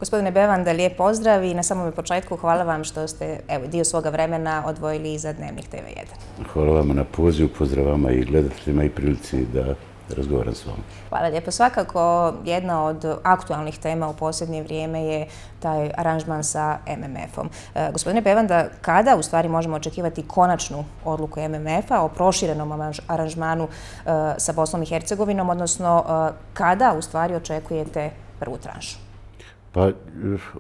Gospodine Bevanda, lijep pozdrav i na samom početku hvala vam što ste dio svoga vremena odvojili i za Dnevnik TV1. Hvala vama na pozivu, pozdrav vama i gledateljima i prilici da razgovaram s vama. Hvala lijepo. Svakako jedna od aktualnih tema u posljednje vrijeme je taj aranžman sa MMF-om. Gospodine Bevanda, kada u stvari možemo očekivati konačnu odluku MMF-a o proširenom aranžmanu sa Bosnom i Hercegovinom, odnosno kada u stvari očekujete prvu tranšu? Pa,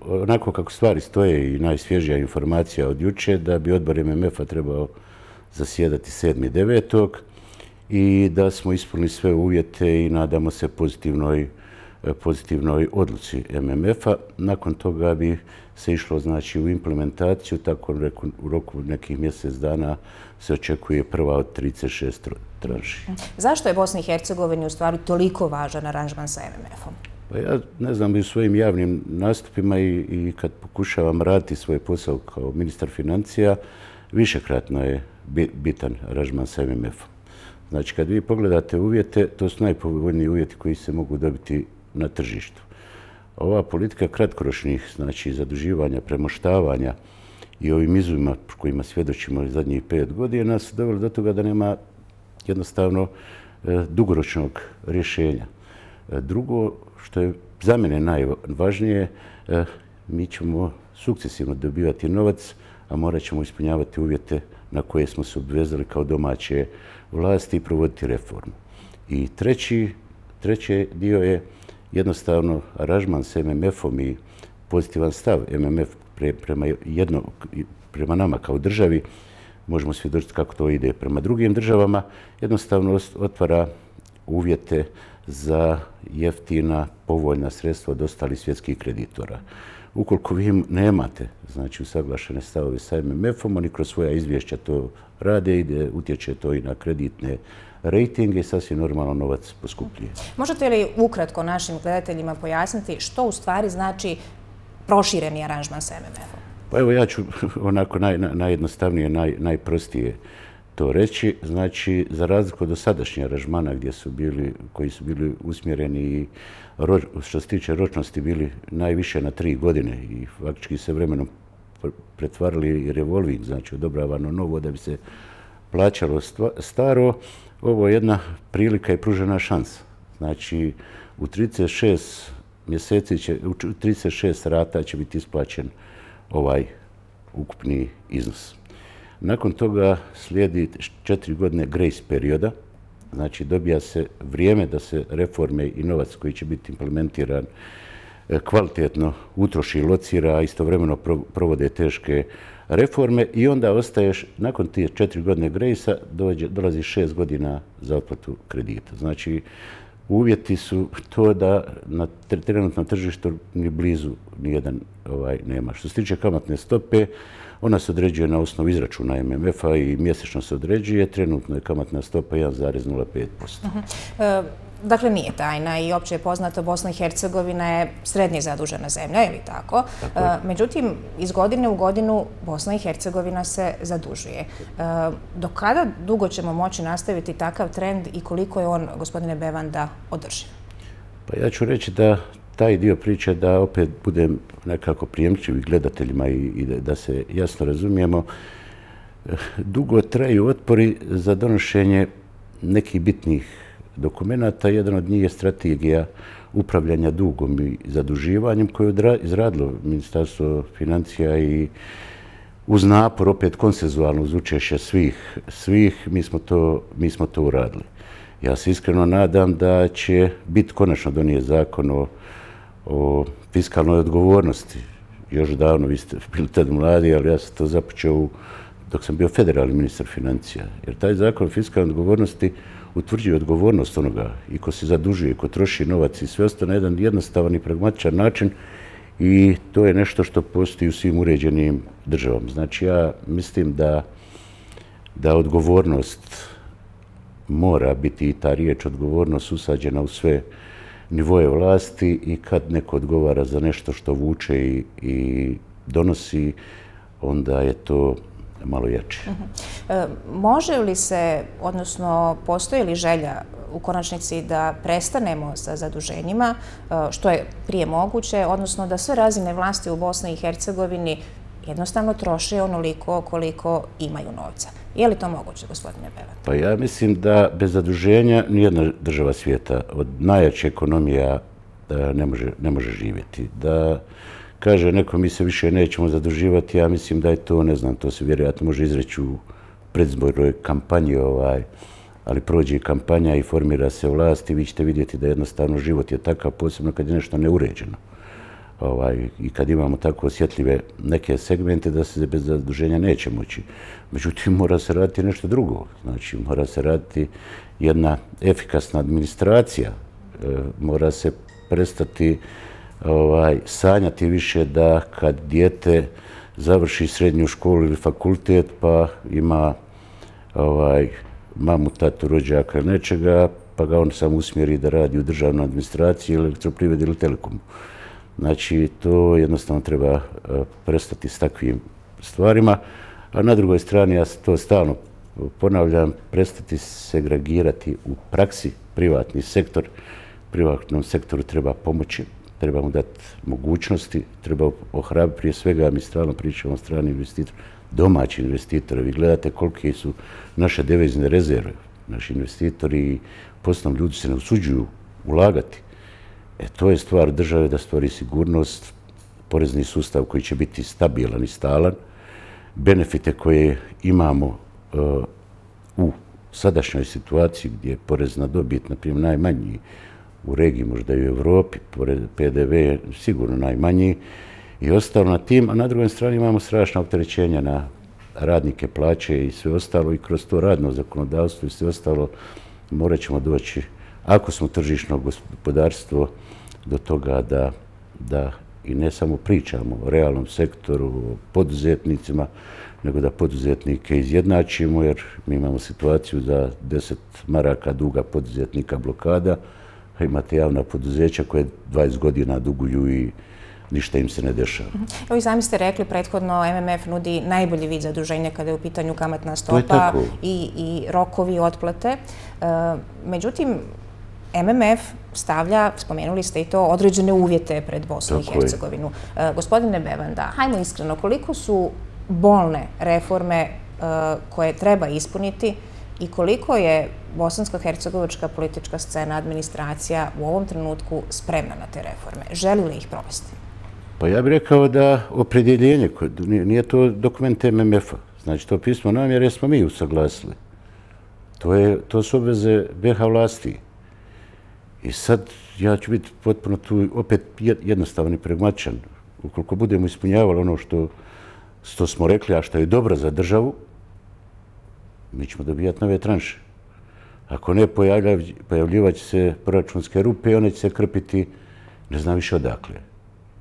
onako kako stvari stoje i najsvježija informacija od juče, da bi odbor MMF-a trebao zasjedati 7.9. i da smo ispunili sve uvjete i nadamo se pozitivnoj odluci MMF-a. Nakon toga bi se išlo znači u implementaciju, tako u roku nekih mjesec dana se očekuje prva od 36 tranši. Zašto je Bosni i Hercegovini u stvari toliko važan aranžman sa MMF-om? Pa ja ne znam, i u svojim javnim nastupima i kad pokušavam raditi svoj posao kao ministar financija, višekratno je bitan aranžman sa MMF-om. Znači, kad vi pogledate uvjete, to su najpovoljniji uvjeti koji se mogu dobiti na tržištu. Ova politika kratkoročnih, znači zaduživanja, premoštavanja i ovim izumima kojima svjedočimo zadnjih 5 godina su doveli do toga da nema jednostavno dugoročnog rješenja. Drugo, što je za mene najvažnije, mi ćemo sukcesivno dobivati novac, a morat ćemo ispunjavati uvjete na koje smo se obvezali kao domaće vlasti i provoditi reformu. I treći dio je jednostavno aranžman s MMF-om i pozitivan stav MMF prema nama kao državi. Možemo svjedočiti kako to ide prema drugim državama. Jednostavno otvara uvjete za jeftina, povoljna sredstva od ostalih svjetskih kreditora. Ukoliko vi nemate znači usaglašene stavove sa MMF-om, oni kroz svoja izvješća to rade i utječe to i na kreditne rejtinge i sasvim normalno novac poskupljuje. Možete li ukratko našim gledateljima pojasniti što u stvari znači prošireni aranžman sa MMF-om? Pa evo ja ću onako najjednostavnije, najprostije to reći. Znači, za razliku od dosadašnjih aranžmana koji su bili usmjereni i što se tiče ročnosti bili najviše na 3 godine i faktički se vremenom pretvarali revolving, znači odobravano novo da bi se plaćalo staro, ovo je jedna prilika i pružena šansa. Znači, u 36 mjeseci, u 36 rata će biti isplaćen ovaj ukupni iznos. Nakon toga slijedi 4 godine grace perioda, znači dobija se vrijeme da se reforme i novac koji će biti implementiran kvalitetno utroši i locira, a istovremeno provode teške reforme i onda ostaješ, nakon tih 4 godine grace-a dolazi 6 godina za otplatu kredita. Znači, uvjeti su to da na trenutnom tržištu ni blizu nijedan nema. Što se tiče kamatne stope, ona se određuje na osnovu izračuna MMF-a i mjesečno se određuje. Trenutno je kamatna stopa 1,05%. Dakle, nije tajna i opće je poznato, Bosna i Hercegovina je srednje zadužena zemlja, je li tako? Međutim, iz godine u godinu Bosna i Hercegovina se zadužuje. Do kada dugo ćemo moći nastaviti takav trend i koliko je on, gospodine Bevanda, održiv? Pa ja ću reći da taj dio priče, da opet budem nekako prijemčiv gledateljima i da se jasno razumijemo, dugo traju otpori za donošenje nekih bitnih dokumenata. Jedan od njih je strategija upravljanja dugom i zaduživanjem koju je izradilo Ministarstvo financija i uz napor, opet konsenzualno uz učešće svih, mi smo to uradili. Ja se iskreno nadam da će biti konačno donijet zakon o fiskalnoj odgovornosti. Još davno, vi ste bili tad mladi, ali ja sam to započeo dok sam bio federalni ministar financija. Jer taj zakon o fiskalnoj odgovornosti utvrđuje odgovornost onoga i ko se zadužuje, ko troši novac i sve ostane na jedan jednostavan i pragmatičan način i to je nešto što postoji u svim uređenim državama. Znači, ja mislim da odgovornost mora biti i ta riječ odgovornost usađena u sve nivoje vlasti i kad neko odgovara za nešto što vuče i donosi, onda je to malo jače. Može li se, odnosno postoji li želja u konačnici da prestanemo sa zaduženjima, što je prije moguće, odnosno da sve razine vlasti u Bosni i Hercegovini jednostavno troše onoliko koliko imaju novca? Je li to moguće, gospodine Bevan? Pa ja mislim da bez zaduženja nijedna država svijeta od najjače ekonomija ne može živjeti. Da kaže neko mi se više nećemo zaduživati, ja mislim da je to, ne znam, to se vjerojatno može izreći u predizbornoj kampanji, ali prođe i kampanja i formira se vlast i vi ćete vidjeti da jednostavno život je takav, posebno kad je nešto neuređeno. I kad imamo tako osjetljive neke segmente da se bez zaduženja neće moći. Međutim, mora se raditi nešto drugo. Znači, mora se raditi jedna efikasna administracija. Mora se prestati sanjati više da kad dijete završi srednju školu ili fakultet pa ima mamu, tatu, rođaka ili nečega, pa ga on sam usmjeri da radi u državnoj administraciji ili elektroprivredi ili telekomu. Znači, to jednostavno treba prestati s takvim stvarima, a na drugoj strani, ja to stalno ponavljam, prestati segregirati u praksi privatni sektor. Privatnom sektoru treba pomoći, treba mu dati mogućnosti, treba ohrabriti prije svega, mi stalno pričamo o stranim investitorima, domaći investitori. Vi gledate kolike su naše devizne rezerve. Naši investitori i poslovni ljudi se ne usuđuju ulagati. To je stvar države da stvori sigurnost, porezni sustav koji će biti stabilan i stalan, benefite koje imamo u sadašnjoj situaciji gdje je porez na dobit, na primjer, najmanji u regiji, možda i u Evropi, PDV je sigurno najmanji i ostalo na tim, a na drugoj strani imamo strašna opterećenja na radnike, plaće i sve ostalo i kroz to radno zakonodavstvo i sve ostalo morat ćemo doći, ako smo tržišno gospodarstvo, do toga da i ne samo pričamo o realnom sektoru, o poduzetnicima, nego da poduzetnike izjednačimo, jer mi imamo situaciju da 10 maraka duga poduzetnika blokada, a imate javna poduzeća koje 20 godina duguju i ništa im se ne dešava. Evo i sami ste rekli, prethodno MMF nudi najbolji vid zaduženja kada je u pitanju kamatna stopa i rokovi otplate. Međutim, MMF stavlja, spomenuli ste i to, određene uvjete pred Bosnu i Hercegovinu. Gospodine Bevanda, hajmo iskreno, koliko su bolne reforme koje treba ispuniti i koliko je bosansko-hercegovačka politička scena, administracija u ovom trenutku spremna na te reforme? Želi li ih provesti? Pa ja bih rekao da opredjeljenje, nije to dokument MMF-a, znači to pismo namjere smo mi usaglasili. To su obveze BiH vlasti. I sad ja ću biti potpuno tu opet jednostavan i pragmatičan. Ukoliko budemo ispunjavali ono što smo rekli, a što je dobro za državu, mi ćemo dobijati nove tranše. Ako ne, pojavljivat će se proračunske rupe i one će se krpiti ne znam više odakle.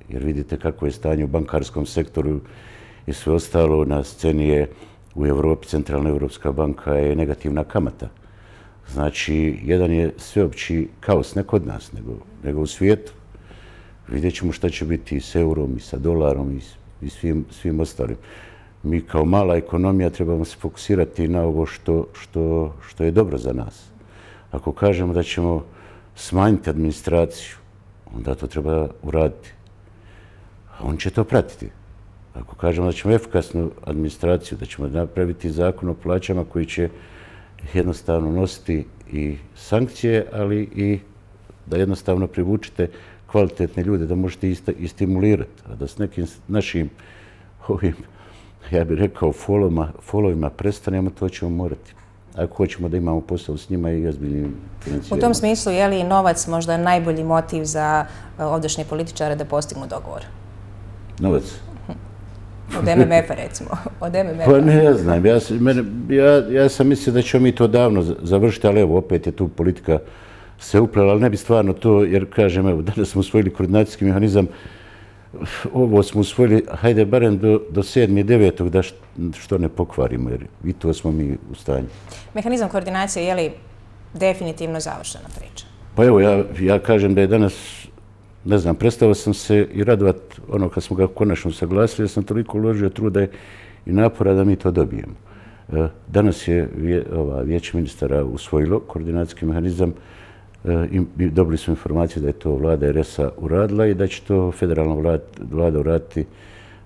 Jer vidite kako je stanje u bankarskom sektoru i sve ostalo. Na sceni je u Evropi, Centralna Evropska banka je negativna kamata. Znači, jedan je sveopći kaos, ne kod nas, nego u svijetu. Vidjet ćemo šta će biti i s eurom, i sa dolarom, i svim ostalim. Mi kao mala ekonomija trebamo se fokusirati na ovo što je dobro za nas. Ako kažemo da ćemo smanjiti administraciju, onda to treba uraditi. A on će to pratiti. Ako kažemo da ćemo efikasnu administraciju, da ćemo napraviti zakon o plaćama koji će jednostavno nositi i sankcije, ali i da jednostavno privučite kvalitetne ljude, da možete i stimulirati. A da s nekim našim ovim, ja bih rekao, folovima prestanemo, to ćemo morati. Ako hoćemo da imamo posao s njima i ozbiljnim financiranjem. U tom smislu, je li novac možda najbolji motiv za ovdašnje političare da postignu dogovor? Novac? Od MMF-a, recimo. Pa ne, ja znam. Ja sam mislio da ćemo mi to davno završiti, ali evo, opet je tu politika se uplela, ali ne bi stvarno to, jer kažem, evo, danas smo usvojili koordinacijski mehanizam, ovo smo usvojili, hajde, barem do 7. i 9. da što ne pokvarimo, jer i to smo mi u stanju. Mehanizam koordinacije je li definitivno završena priča? Pa evo, ja kažem da je danas, ne znam, prestao sam se i radovat ono kad smo ga konačno saglasili, jer sam toliko uložio truda i napora da mi to dobijemo. Danas je Vijeće ministara usvojilo koordinacijski mehanizam i dobili smo informacije da je to vlada RS-a uradila i da će to federalna vlada uraditi,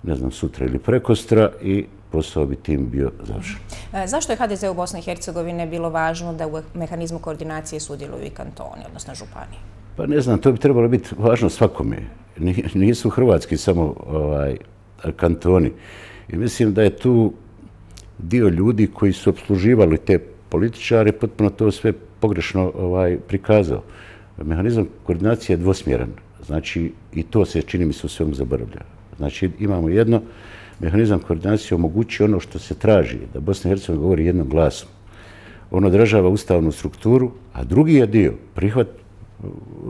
ne znam, sutra ili prekostra i posao bi tim bio završen. Zašto je HDZ u Bosni i Hercegovini bilo važno da u mehanizmu koordinacije sudjeluju i kantoni, odnosno županije? Pa ne znam, to bi trebalo biti važno svakome. Nisu hrvatski samo kantoni. I mislim da je tu dio ljudi koji su opsluživali te političare, potpuno to sve pogrešno prikazao. Mehanizam koordinacije je dvosmjeran. Znači, i to se, čini mi se, u svemu zaboravlja. Znači, imamo jedno, mehanizam koordinacije omogućuje ono što se traži, da Bosna i Hercegovina govori jednom glasom. On odražava ustavnu strukturu, a drugi je dio prihvat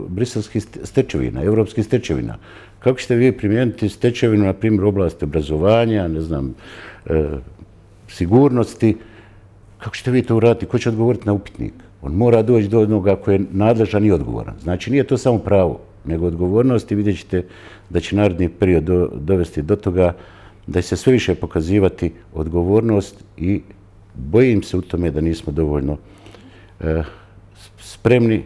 briselskih stečevina, evropskih stečevina. Kako ćete vi primijeniti stečevinu, na primjer, u oblasti obrazovanja, ne znam, sigurnosti, kako ćete vi to uraditi? Ko će odgovoriti na upitnik? On mora doći do onoga koji je nadležan i odgovoran. Znači, nije to samo pravo, nego odgovornost i vidjet ćete da će naredni period dovesti do toga da će se sve više pokazivati odgovornost i bojim se u tome da nismo dovoljno spremni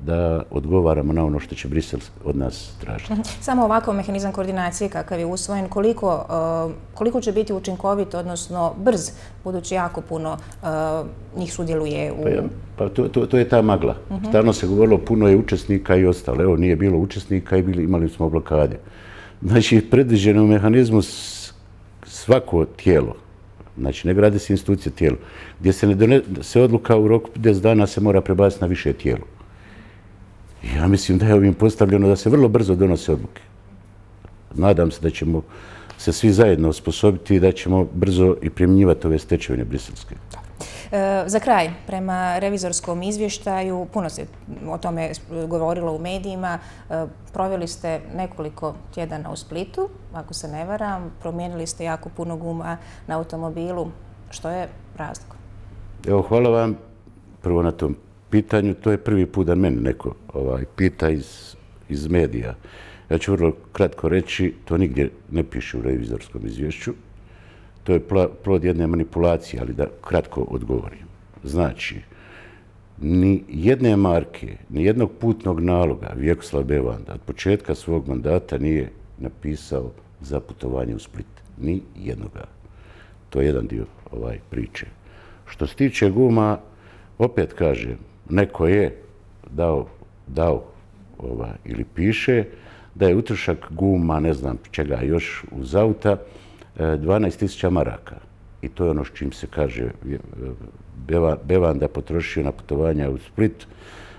da odgovaramo na ono što će Brisel od nas tražiti. Samo ovakav mehanizam koordinacije kakav je usvojen, koliko će biti učinkovit, odnosno brz, budući jako puno njih sudjeluje u... Pa to je ta magla. Stalno se govorilo puno je učesnika i ostalo. Evo, nije bilo učesnika i imali smo blokade. Znači, predviđeno u mehanizmu svako tijelo, znači ne gradi se institucija tijelo, gdje se ne donese odluka u roku 10 dana se mora prebaciti na više tijelo. Ja mislim da je ovim postavljeno da se vrlo brzo donose odluke. Nadam se da ćemo se svi zajedno osposobiti i da ćemo brzo i primjenjivati ove stečevine briselske. Za kraj, prema revizorskom izvještaju, puno se o tome govorilo u medijima, proveli ste nekoliko tjedana u Splitu, ako se ne varam, promijenili ste jako puno guma na automobilu. Što je razlog? Evo, hvala vam prvo na tom pitanju. To je prvi put da mene neko pita iz medija. Ja ću vrlo kratko reći, to nigdje ne piše u revizorskom izvješću. To je plod jedne manipulacije, ali da kratko odgovorim. Znači, ni jedne marke, ni jednog putnog naloga Vjekoslav Bevanda od početka svog mandata nije napisao za putovanje u Split. Ni jednoga. To je jedan dio priče. Što se tiče guma, opet kažem, neko je dao ili piše da je utrošak guma, ne znam čega još, uz auta, 12.000 maraka. I to je ono s čim se kaže Bevanda potrošio na putovanja u Split,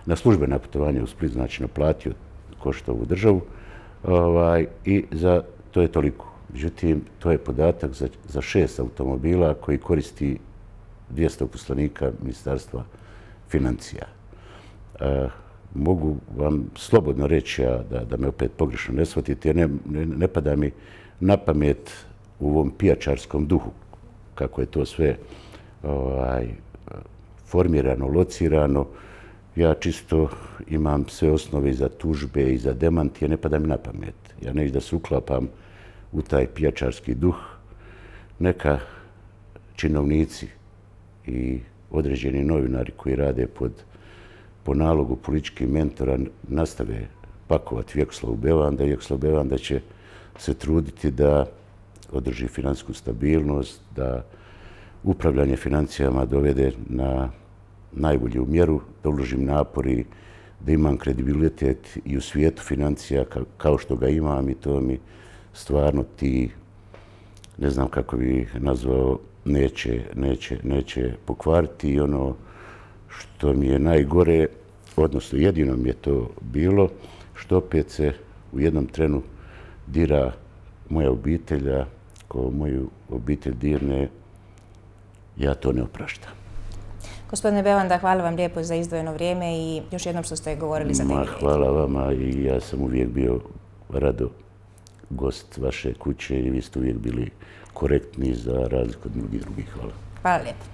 na službena putovanja u Split, znači naplatio koštovu državu i to je toliko. Međutim, to je podatak za 6 automobila koji koristi 200 uposlenika Ministarstva financija. Mogu vam slobodno reći, da me opet pogrešno ne shvatite, jer ne pada mi na pamet u ovom pijačarskom duhu, kako je to sve formirano, locirano. Ja čisto imam sve osnove i za tužbe i za demantije, ne pada mi na pamet. Ja neću da se uklapam u taj pijačarski duh. Neka činovnici i određeni novinari koji rade po nalogu političkih mentora nastave pakovati Vjekoslavu Bevanda. Vjekoslav Bevanda će se truditi da održi financijsku stabilnost, da upravljanje financijama dovede na najbolju mjeru, da uložim napori, da imam kredibilitet i u svijetu financija kao što ga imam i to mi stvarno ti, ne znam kako bi nazvao, neće pokvariti. I ono što mi je najgore, odnosno jedino mi je to bilo, što opet se u jednom trenu dira moja obitelja, ko moju obitelj dirne, ja to ne opraštam. Gospodine Bevanda, hvala vam lijepo za izdvojeno vrijeme i još jednom što ste govorili za TV. Hvala vama i ja sam uvijek bio rado gost vaše kuće i vi ste uvijek bili korektni za razliku od mnogih drugih. Hvala. Hvala lijepo.